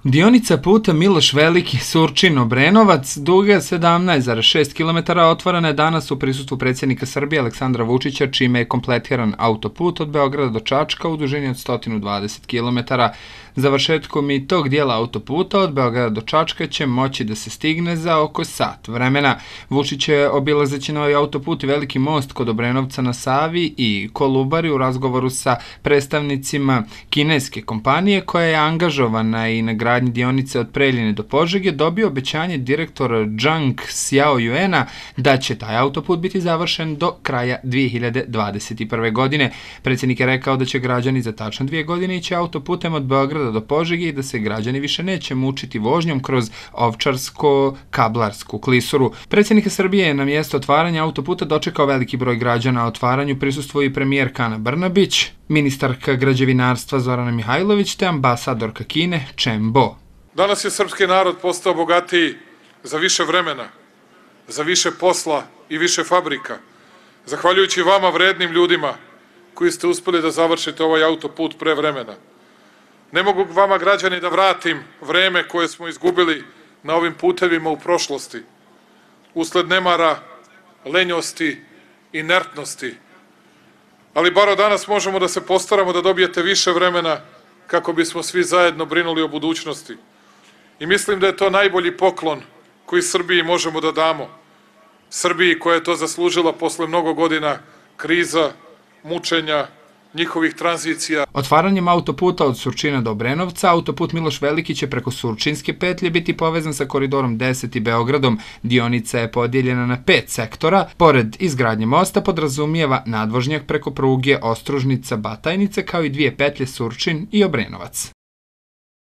Dionica puta Miloš Veliki Surčin-Obrenovac, duga 17,6 km, otvorena je danas u prisustvu predsjednika Srbije Aleksandra Vučića, čime je kompletiran autoput od Beograda do Čačka u dužini od 120 km. Završetkom i tog dijela autoputa od Beograda do Čačka će moći da se stigne za oko sat vremena. Vučić je, obilazeći novi autoput i veliki most kod Obrenovca na Savi i Kolubari, u razgovoru sa predstavnicima kineske kompanije koja je angažovana i na gradnji dionice od Preljine do Požege, dobio obećanje direktora Zhang Xiaoyuana da će taj autoput biti završen do kraja 2021. godine. Predsjednik je rekao da će građani za tačno 2 godine ići autoputem od Beograda do Požege i da se građani više neće mučiti vožnjom kroz Ovčarsko-Kablarsku klisuru. Predsjednik Srbije je na mjesto otvaranja autoputa dočekao veliki broj građana. Otvaranju prisustvuje i premijerka Ana Brnabić, ministarka građevinarstva Zorana Mihajlović te ambasadorka Kine Chen Bo. Danas je srpski narod postao bogatiji za više vremena, za više posla i više fabrika. Zahvaljujući vama, vrednim ljudima, koji ste uspeli da završite ovaj autoput pre vremena. Ne mogu vama, građani, da vratim vreme koje smo izgubili na ovim putevima u prošlosti, usled nemara, lenjosti, inertnosti. Ali bar od danas možemo da se postaramo da dobijete više vremena kako bismo svi zajedno brinuli o budućnosti. I mislim da je to najbolji poklon koji Srbiji možemo da damo. Srbiji koja je to zaslužila posle mnogo godina kriza, mučenja, njihovih tranzicija. Otvaranjem autoputa od Surčina do Obrenovca, autoput Miloš Veliki će preko Surčinske petlje biti povezan sa koridorom 10 i Beogradom. Dionica je podijeljena na 5 sektora. Pored izgradnje mosta podrazumijeva nadvožnjak preko pruge Ostružnica-Batajnica kao i 2 petlje Surčin i Obrenovac.